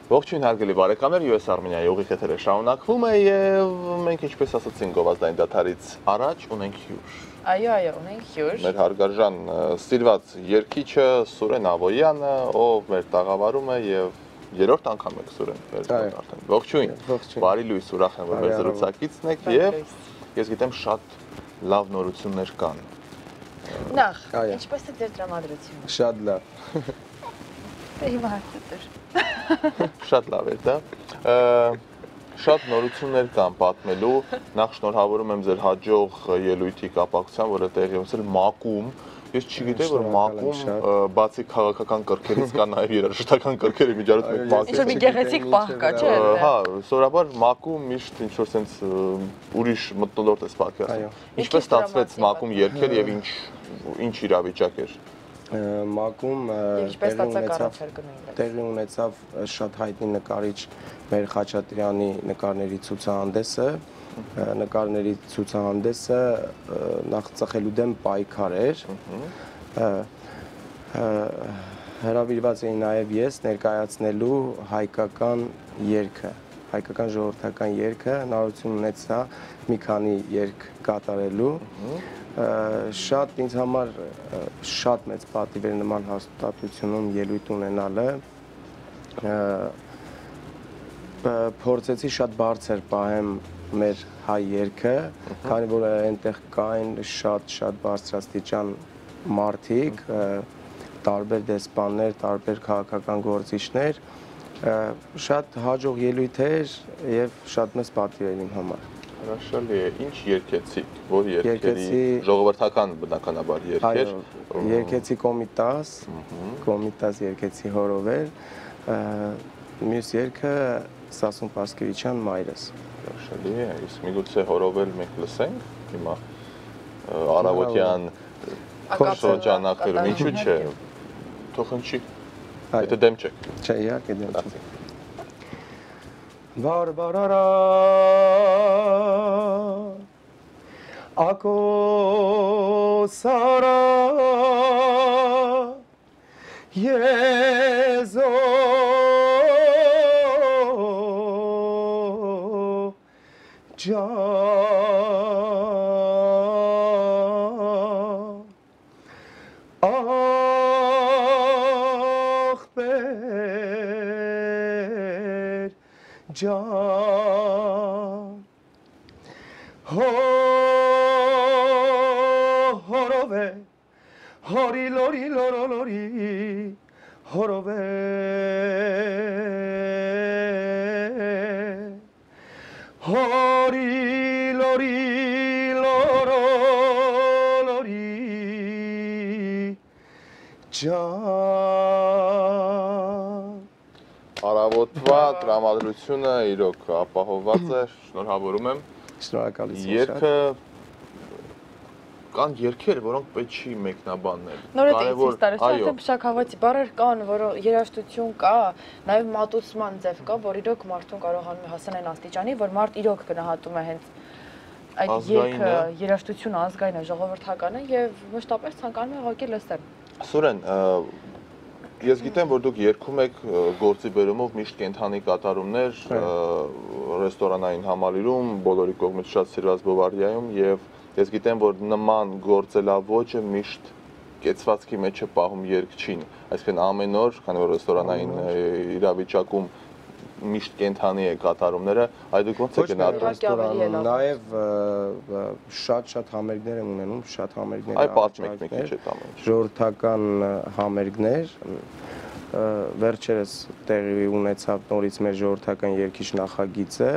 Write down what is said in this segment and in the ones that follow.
Ողջույն հարգելի բարեկամներ, US Armenia-ի ուղիղ եթերը շարունակվում է եւ մենք ինչպես ասացինք գովազդային դադարից առաջ ունենք հյուր։ Այո, ունենք հյուր։ Մեր հարգարժան ստիլված երգիչը Սուրեն Ավոյանը, ով մեր տաղավարում է եւ երրորդ անգամ եք Սուրեն վերջերս արդեն։ Ողջույն։ Բարի լույս, ուրախ եմ որ մեր զրուցակիցն եք եւ ես գիտեմ շատ լավ նորություններ կան։ Նախ, ինչպես է ձեր տրամադրությունը։ Շատ լավ։ Դե հիմա հարցեր։ Շատ լավ է դա։ Շատ նորություններ կան պատմելու։ Նախ շնորհավորում եմ ձեր հաջող ելույթի կապակցությամբ, որը տեղի ունեցել ՄԱԿ-ում։ Ես չգիտեի, որ ՄԱԿ-ում բացի քաղաքական կրքերից կա նաև երաժշտական կրքերի միջոցով մեկ ՄԱԿ-ը։ Ինչ-որ մի գեղեցիկ պահ կա, չէ՞։ Հա, սովորաբար ՄԱԿ-ում միշտ ինչ-որ sense ուրիշ մթնոլորտ է սպասում։ Ինչպես ստացվեց ՄԱԿ-ում երգել եւ ինչ իրավիճակ էր։ ՄԱԿ-ում տեղի ունեցավ շատ հայտնի նկարիչ մեր Խաչատրյանի նկարների ցուցահանդեսը, նկարների ցուցահանդեսը նախ ծխելու դեմ պայքար էր, հրավիրված էի նաև ես ներկայացնելու հայկական երգը, հայկական ժողովրդական երգը, հնարավորություն ունեցա մի քանի երգ կատարելու, շատ ինձ համար շատ մեծ պատիվ էր նման հաստատությունում ելույթ ունենալը, փորձեցի շատ բարձր պահեմ մեր հայ երգը, քանի որ այնտեղ կային շատ բարձրաստիճան մարդիկ, տարբեր դեսպաններ, տարբեր քաղաքական գործիչներ, շատ հաջող ելույթ էր եւ շատ մեծ պատիվ էր իմ համար։ Հրաշալի է, ինչ երգեցիք, որ երգերի ժողովրդական բնականաբար երգեր։ Երգեցի Կոմիտաս երգեցի Հորովեր, մյուս երգը Սասուն Պասկևիչյան Մայրս։ Հրաշալի է, իսկ միգուցե Հորովել մենք լսենք հիմա առավոտյան շրջանակներում, ինչու՞ չէ, թող հնչի, եթե դեմ չեք։ Չէ, իհարկե դեմ չեմ։ Բարբարարա ակոսարա եզո ջան ախպեր ջան հորովե հորի լորի լորոլորի հորովե հորի լորի լորոլորի ջան Առավոտվա տրամադրությունը իրոք ապահովված է, շնորհավորում եմ։ Շնորհակալություն։ Երգը կան երգեր, որոնք պետք չի մեկնաբանել։ Նորից արդեն փշաքաղացի բառեր կան, որ երաժշտություն կա, նաև մատուցման ձև կա, որ իրոք մարդուն կարողանում է հասնել այն աստիճանի, որ մարդ իրոք գնահատում է հենց այդ երգը, երաժշտությունը ազգային է, ժողովրդականը եւ մշտապես ցանկանում է ուղղակի լսել։ Սուրեն, ես գիտեմ, որ դուք երգում եք գործի բերումով միշտ կենթանի կատարումներ ռեստորանային համալիրում, բոլորի կողմից շատ սիրված Բովարդիայում եւ ես գիտեմ, որ նման գործելավոճը միշտ կեցվածքի մեջ է պահում երգչին, այսինքն ամեն օր, քանի որ ռեստորանային իրավիճակում միշտ կենթանի է կատարումները, այդ դուք ոնց եք գնահատում։ Նաև շատ համերգներ եմ ունենում, շատ համերգներ։ Այ պատմեք մի քիչ այդ ամենը։ Ժողովրդական համերգներ, վերջերս տեղի ունեցավ նորից մեր ժողովրդական երգիչ նախագիծը,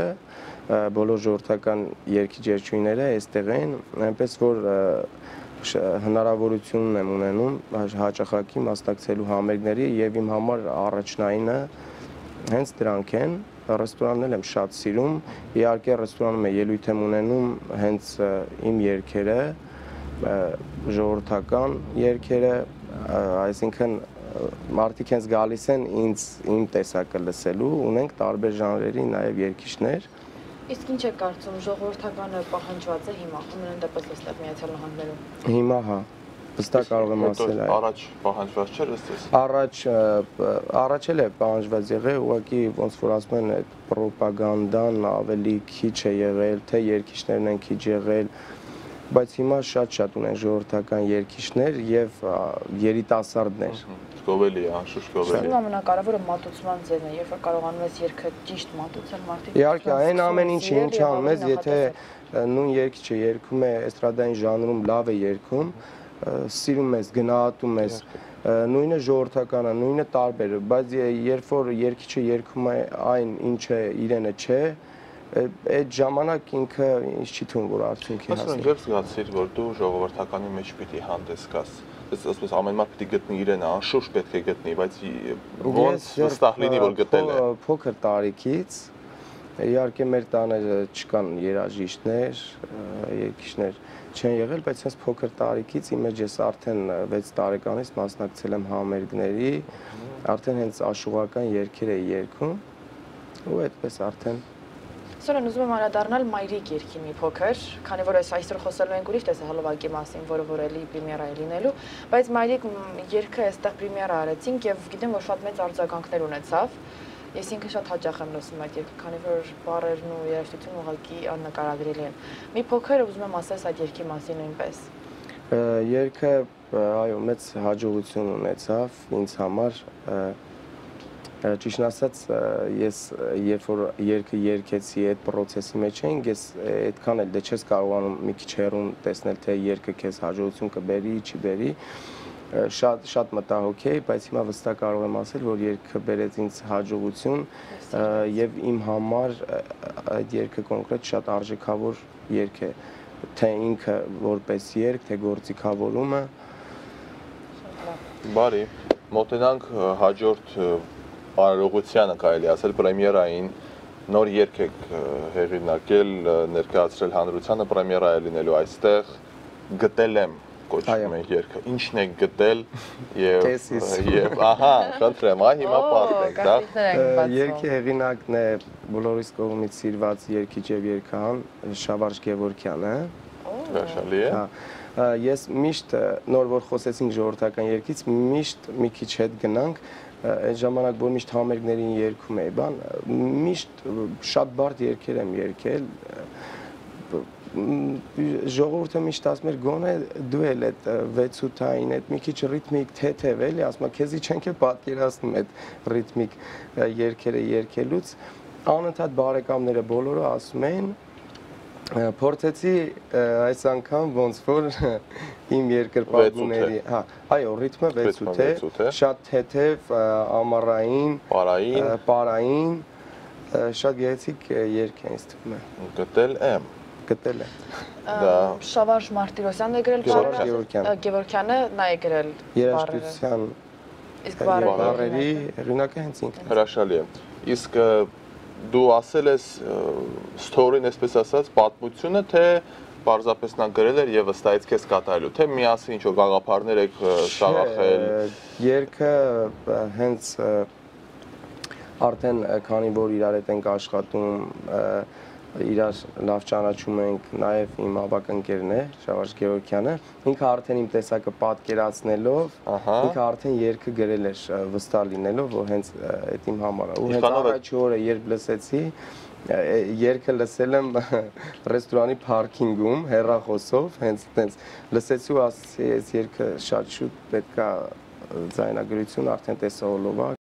բոլոր ժողովրդական երգիչ երգչուհիները այստեղ են, այնպես որ հնարավորություն եմ ունենում հաճախակի մասնակցելու համերգների եւ իմ համար առաջնայինը հենց դրանք են, ռեստորանն եմ շատ սիրում, իհարկե ռեստորանում ելույթ եմ ունենում հենց իմ երգերը, ժողովրդական երգերը, այսինքն մարդիկ հենց գալիս են իմ տեսակը լսելու, ունենք տարբեր ժանրերի նաև երգիչներ։ Իսկ ինչ է կարծում, ժողովրդականը պահանջված է հիմա, ամենայն դեպս այստեղ Միացյալ Նահանգներում։ Հիմա հա, Վստահ կարող եմ ասել այո։ Առաջ պահանջված չէր ըստ Առաջ էլ է պահանջված եղել, ուղղակի ոնց որ ասում են այդ ռոպագանդան ավելի քիչ է եղել, թե երգիչներն են քիչ եղել, բայց հիմա շատ ունեն ժողովրդական երգիչներ եւ երիտասարդներ։ Գովելի է, անշուշտ գովելի է։ Ամենակարևորը մատուցման ձևն է, երբ որ կարողանում ես երգը ճիշտ մատուցել, մարդիկ։ Իհարկե, այն ամեն ինչը ինչ անում ես, եթե նույն երգիչը երգում է էստրադային ժանրում, լավ է երգում, սիրում ես, գնահատում ես, նույնը ժողովրդականը, նույնը տարբեր է, բայց երբ որ երգիչը երգում է այն, ինչը իրենը չէ, այդ ժամանակ ինքը ինչ չի թվում, որ արդյունքի հասնի։ Ասում եմ, զգացիր, որ դու ժողովրդականի մեջ պիտի հանդես գաս։ Ասես ամեն մարդ պիտի գտնի իրենը, անշուշտ պետք է գտնի, բայց ոնց վստահ լինի, որ գտել է։ Փոքր տարիքից իհարկե մեր տաները չկան երաժիշտներ, երգիչներ չեն եղել, բայց այս փոքր տարիքից իմ մեջ ես արդեն 6 տարեկանից մասնակցել եմ համերգների, արդեն հենց աշուղական երգեր էի երգում ու այդպես արդեն Սորեն ուզում եմ անդրադառնալ մայրիկ երգի մի փոքր, քանի որ այսօր խոսելու ենք ուրիշ տեսահոլովակի մասին, որը որ էլի պրեմիերա է լինելու, բայց մայրիկ երգը այստեղ պրեմիերա արեցինք եւ գիտեմ, որ շատ մեծ արձագանքներ ունեցավ։ Ես ինքը շատ հաճախ եմ լսում այդ երգը, քանի որ բառերն ու երաժշտությունը ուղղակի աննկարագրելի են։ Մի փոքր ուզում եմ ասես այդ երգի մասին նույնպես։ Երգը այո, մեծ հաջողություն ունեցավ ինձ համար։ Ճիշտ ասած, ես երբ որ երգը երգեցի այդ process-ի մեջ էինք, ես այդքան էլ դե չես կարողանում մի քիչ հեռուն տեսնել, թե երգը քեզ հաջողություն կբերի, չի բերի։ Շատ մտահոգ էի, բայց հիմա վստահ կարող եմ ասել, որ երգը բերեց ինձ հաջողություն եւ իմ համար այդ երգը կոնկրետ շատ արժեքավոր երգ է, թե ինքը որպես երգ, թե գործիքավորումը։ Բարի, մոտենանք հաջորդ արարողությանը կարելի ասել պրեմիերային նոր երգ եք հեղինակել, ներկայացրել հանրությանը, պրեմիերա է լինելու այստեղ, գտել եմ կոչվում է երգը, ինչն եք գտել եւ ահա, խնդրեմ, հիմա պատմեք, դա երգի հեղինակն է բոլորիս կողմից սիրված երգիչ եւ երգահան Շավարժ Գևորգյանը։ Հրաշալի է։ Ես միշտ նոր որ խոսեցինք ժողովրդական երգից, միշտ մի քիչ հետ գնանք այդ ժամանակ որ միշտ համերգներին երգում էի, միշտ շատ բարդ երգեր եմ երգել, ժողովուրդը միշտ ասում էր գոնե դու էլ այդ 6-8-ային այդ մի քիչ ռիթմիկ թեթև էլի, ասում եմ քեզի չենք է պատկերացնում այդ ռիթմիկ երգերը երգելուց, անընդհատ բարեկամները բոլորը ասում են փորձեցի այս անգամ ոնց որ իմ երկրպագուների, այո, ռիթմը 6-8 է, շատ թեթև, ամառային, պարային, շատ գեղեցիկ երգ է ինձ թվում է։ Գտել եմ։ Գտել է։ Շավարժ Մարտիրոսյանն է գրել բառերը, Գևորգյանը նա է գրել երաժշտության իսկ բառերի հեղինակը հենց ինքն է։ Հրաշալի է։ Իսկ դու ասել ես story-ն, այսպես ասած, պատմությունը, թե պարզապես նա գրել էր եւ վստահից քեզ կատարելու, թե միասին ինչ-որ գաղափարներ եք շաղախել։ Երգը հենց արդեն քանի որ իրար հետ ենք աշխատում, իրար լավ ճանաչում ենք, նաև իմ ավագ ընկերն է, Շավարժ Գևորգյանը, ինքը արդեն իմ տեսակը պատկերացնելով, ինքը արդեն երգը գրել էր վստահ լինելով, որ հենց այդ իմ համար է։ Ու հենց առաջի օրը երբ լսեցի, երգը լսել եմ ռեստորանի փարքինգում հեռախոսով, հենց լսեցի ու ասեցի, այս երգը շատ շուտ պետք է ձայնագրություն արդեն տեսահոլովակ